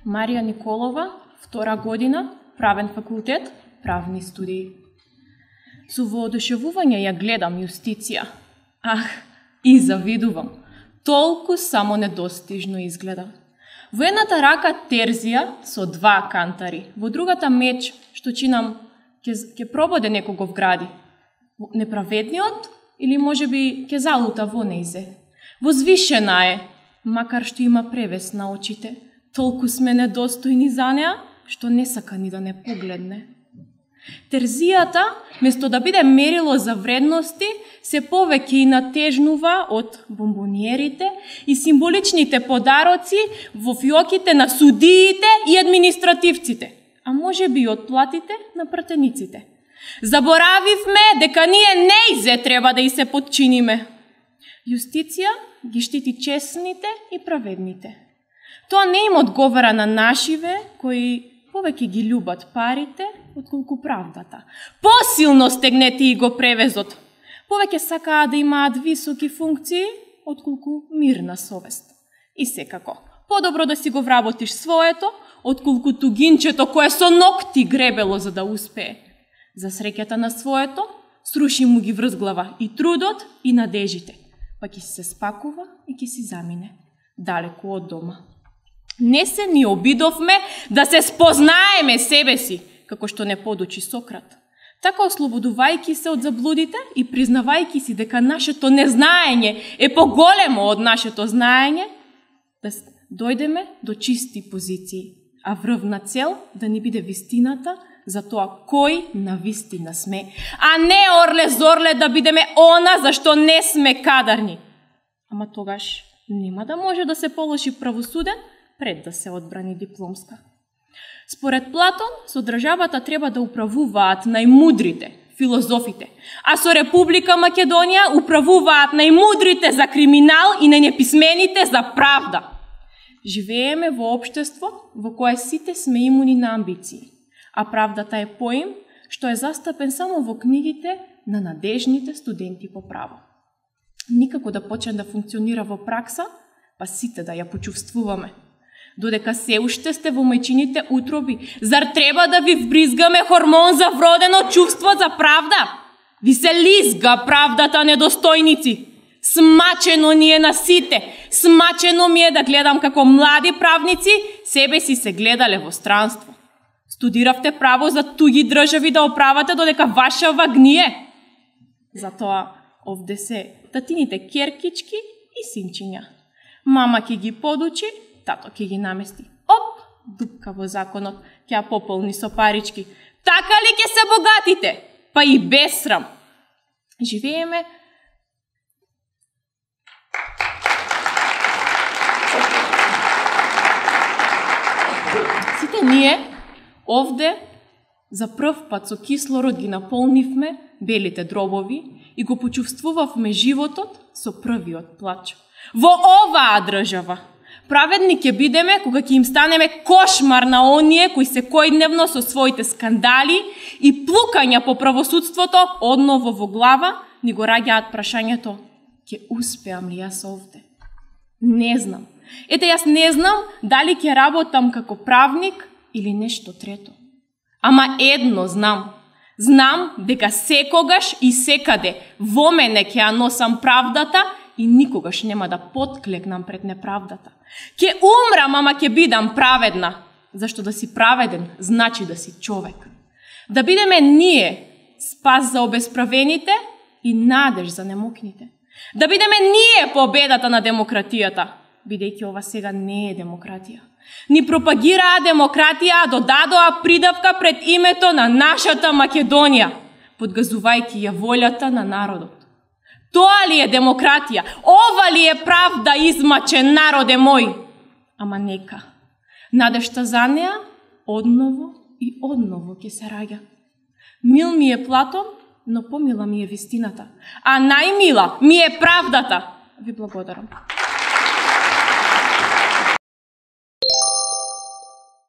Марија Николова, 2 година, правен факултет, правни студии. Со воодушевување ја гледам Јустиција. И завидувам. Толку само недостижно изгледа. Во едната рака терзија со 2 кантари, во другата меч, што чинам ќе прободе некого вгради. Неправедниот или можеби ќе залута во нејзе. Возвишена е, макар што има превес на очите. Толку сме недостојни за неа, што не сака ни да не погледне. Терзијата, место да биде мерило за вредности, се повеќе и натежнува од бомбониерите и символичните подароци во фиоките на судиите и административците, а можеби и од платите на пратениците. Заборавивме дека ние нејзе треба да и се подчиниме. Јустиција ги штити честните и праведните. Тоа не им одговара на нашиве кои повеќе ги љубат парите отколку правдата. Посилно стегнети и го превезот. Повеќе сакаат да имаат високи функции отколку мирна совест. И секако, подобро да си го вработиш своето отколку тугинчето кое со ногти гребело за да успее. За среќата на своето, сруши му ги врзглава и трудот и надежите, па ќе се спакува и ќе си замине, далеку од дома. Не се ни обидовме да се спознаеме себе си, како што не подучи Сократ. Така ослободувајќи се од заблудите и признавајќи си дека нашето незнаење е поголемо од нашето знаење, да дојдеме до чисти позиции, а врвна цел да ни биде вистината за тоа кој на вистина сме, а не орле-зорле да бидеме она за што не сме кадарни. Ама тогаш нема да може да се положи правосуден пред да се одбрани дипломска. Според Платон, со државата треба да управуваат најмудрите, филозофите, а со Република Македонија управуваат најмудрите за криминал и најнеписмените за правда. Живееме во општество во кое сите сме имуни на амбиции, а правдата е поим што е застапен само во книгите на надежните студенти по право. Никако да почне да функционира во пракса, па сите да ја почувствуваме. Додека се уште сте во мајчините утроби, зар треба да ви вбризгаме хормон за вродено чувство за правда? Ви се лизга правдата, недостојници. Смачено ни е на сите. Смачено ми е да гледам како млади правници себе си се гледале во странство. Студиравте право за туги држави да оправате додека вашава гние. Затоа овде се татините керкички и синчиња. Мама ќе ги подучи, тато ќе ги намести. Оп, дупка во законот, ќе ја пополни со парички. Така ли ќе се богатите? Па и без срам. Живееме сите ние овде за прв пат со кислород ги наполнивме белите дробови и го почувствувавме животот со првиот плач. Во оваа држава праведни ќе бидеме кога ќе им станеме кошмар на оние кои секојдневно со своите скандали и плукања по правосудството одново во глава ни го раѓаат прашањето: ќе успеам ли јас овде? Не знам. Ете, јас не знам дали ќе работам како правник или нешто трето. Ама едно знам. Знам дека секогаш и секаде во мене ќе ја носам правдата и никогаш нема да потклекнам пред неправдата. Ќе умрам, ама ќе бидам праведна. Зашто да си праведен значи да си човек. Да бидеме ние спас за обесправените и надеж за немокните. Да бидеме ние победата на демократијата, бидејќи ова сега не е демократија. Ни пропагираа демократија, а додадоа придавка пред името на нашата Македонија, подгазувајќи ја волјата на народот. Тоа ли е демократија? Ова ли е правда, измачен народе мој? Ама нека. Надежта за неа одново и одново ќе се раѓа. Мил ми е Платон, но помила ми е вистината. А најмила ми е правдата. Ви благодарам.